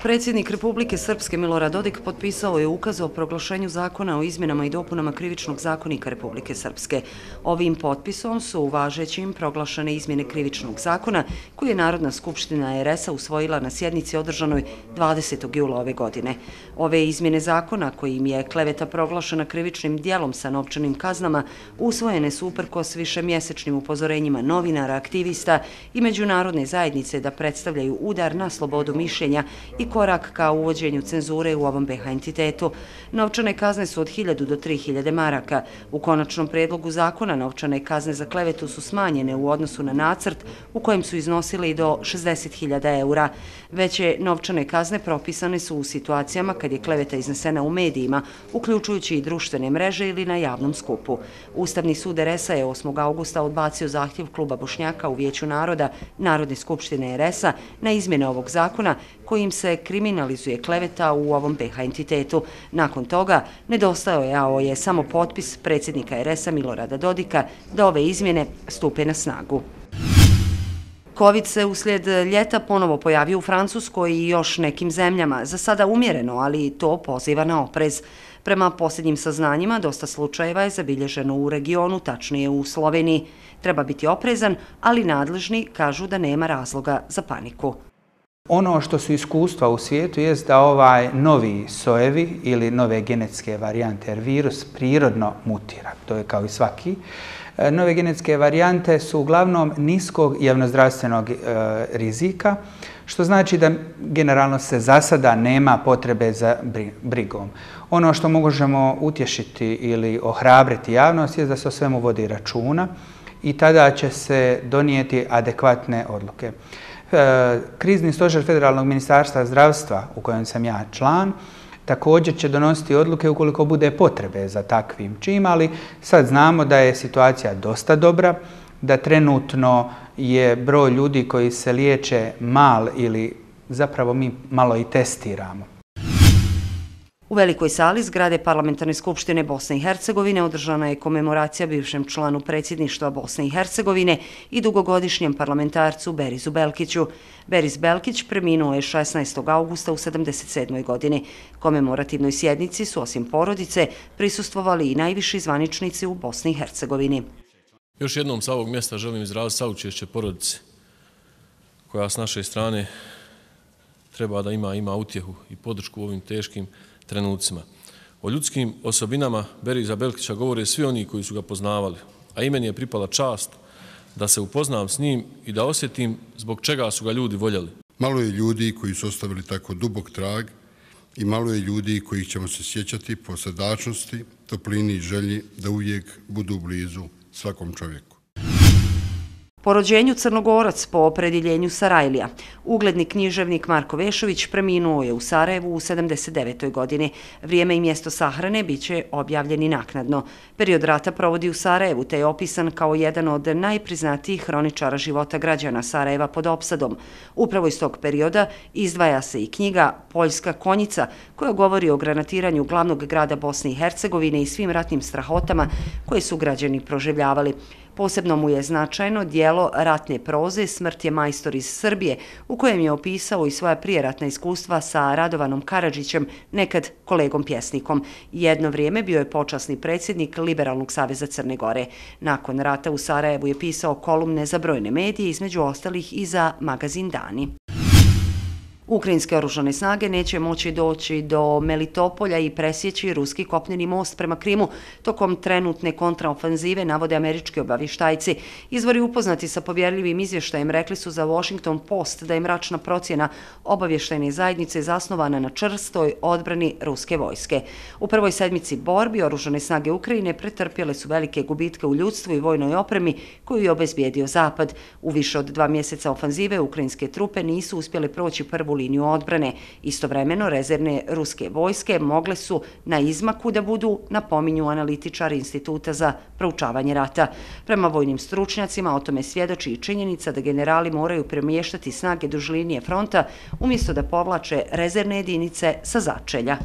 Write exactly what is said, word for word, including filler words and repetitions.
Predsjednik Republike Srpske Milorad Dodik potpisao je ukaz o proglašenju zakona o izmjenama i dopunama Krivičnog zakonika Republike Srpske. Ovim potpisom su važećim proglašene izmjene Krivičnog zakona koji je Narodna skupština er es a usvojila na sjednici održanoj dvadesetog jula ove godine. Ove izmjene zakona, kojim je kleveta proglašena krivičnim djelom sa novčanim kaznama, usvojene su uprkos višemjesečnim upozorenjima novinara, aktivista i međunarodne zajednice da predstavljaju udar na slobodu mišljenja i korak ka uvođenju cenzure u ovom be ha entitetu. Novčane kazne su od hiljadu do tri hiljade maraka. U konačnom predlogu zakona novčane kazne za klevetu su smanjene u odnosu na nacrt u kojem su iznosile i do šezdeset hiljada eura. Veće novčane kazne propisane su u situacijama kad je kleveta iznesena u medijima, uključujući i društvene mreže ili na javnom skupu. Ustavni sud er es a je osmog augusta odbacio zahtjev Kluba Bošnjaka u Vijeću naroda Narodne skupštine er es a na izmjene ovog zakona kojim se kriminalizuje kleveta u ovom be ha entitetu. Nakon toga nedostajao je samo potpis predsjednika er es a Milorada Dodika da ove izmjene stupe na snagu. Kovid se uslijed ljeta ponovo pojavio u Francuskoj i još nekim zemljama, za sada umjereno, ali to poziva na oprez. Prema posljednjim saznanjima, dosta slučajeva je zabilježeno u regionu, tačnije u Sloveniji. Treba biti oprezan, ali nadležni kažu da nema razloga za paniku. Ono što su iskustva u svijetu je da ovaj novi sojevi ili nove genetske varijante, jer virus prirodno mutira, to je kao i svaki. Nove genetske varijante su uglavnom niskog javnozdravstvenog rizika, što znači da generalno se za sada nema potrebe za brigom. Ono što možemo utješiti ili ohrabriti javnost je da se o svemu vodi računa i tada će se donijeti adekvatne odluke. Krizni stožer Federalnog ministarstva zdravstva, u kojem sam ja član, također će donositi odluke ukoliko bude potrebe za takvim čim, ali sad znamo da je situacija dosta dobra, da trenutno je broj ljudi koji se liječe mal ili zapravo mi malo i testiramo. U velikoj sali zgrade Parlamentarne skupštine Bosne i Hercegovine održana je komemoracija bivšem članu predsjedništva Bosne i Hercegovine i dugogodišnjem parlamentarcu Berizu Belkiću. Beris Belkić preminuo je šesnaestog augusta u sedamdeset sedmoj godini. Komemorativnoj sjednici su osim porodice prisustvovali i najviši zvaničnici u Bosni i Hercegovini. Još jednom sa ovog mjesta želim izraziti saučešće porodici koja s naše strane treba da ima, ima utjehu i podršku u ovim teškim trenucima. O ljudskim osobinama Beriza Belkića govore svi oni koji su ga poznavali, a i meni je pripala čast da se upoznam s njim i da osjetim zbog čega su ga ljudi voljeli. Malo je ljudi koji su ostavili tako dubok trag i malo je ljudi kojih ćemo se sjećati po srdačnosti, toplini i želji da uvijek budu blizu svakom čovjeku. Po rođenju Crnogorac, po opredjeljenju Sarajlija, ugledni književnik Marko Vešović preminuo je u Sarajevu u sedamdeset devetoj godini. Vrijeme i mjesto sahrane bit će objavljeni naknadno. Period rata provodi u Sarajevu, te je opisan kao jedan od najpriznatijih hroničara života građana Sarajeva pod opsadom. Upravo iz tog perioda izdvaja se i knjiga Poljska konjica, koja govori o granatiranju glavnog grada Bosne i Hercegovine i svim ratnim strahotama koje su građani proživljavali. Posebno mu je značajno dijelo ratne proze Smrt je majstor iz Srbije, u kojem je opisao i svoja prijeratna iskustva sa Radovanom Karadžićem, nekad kolegom pjesnikom. Jedno vrijeme bio je počasni predsjednik Liberalnog saveza Crne Gore. Nakon rata u Sarajevu je pisao kolumne za brojne medije, između ostalih i za magazin Dani. Ukrajinske oružane snage neće moći doći do Melitopolja i presjeći ruski kopneni most prema Krimu tokom trenutne kontraofenzive, navode američki obavještajci. Izvori upoznati sa povjerljivim izvještajem rekli su za Washington Post da je mračna procjena obavještajne zajednice zasnovana na čvrstoj odbrani ruske vojske. U prvoj sedmici borbi oružane snage Ukrajine pretrpjele su velike gubitke u ljudstvu i vojnoj opremi koju je obezbijedio Zapad. U više od dva mjeseca ofenzive ukrajinske trupe nisu uspjele proći prvu liniju odbrane. Istovremeno, rezervne ruske vojske mogle su na izmaku da budu, napominju analitičari Instituta za proučavanje rata. Prema vojnim stručnjacima o tome svjedoči i činjenica da generali moraju premještati snage duž linije fronta umjesto da povlače rezervne jedinice sa začelja.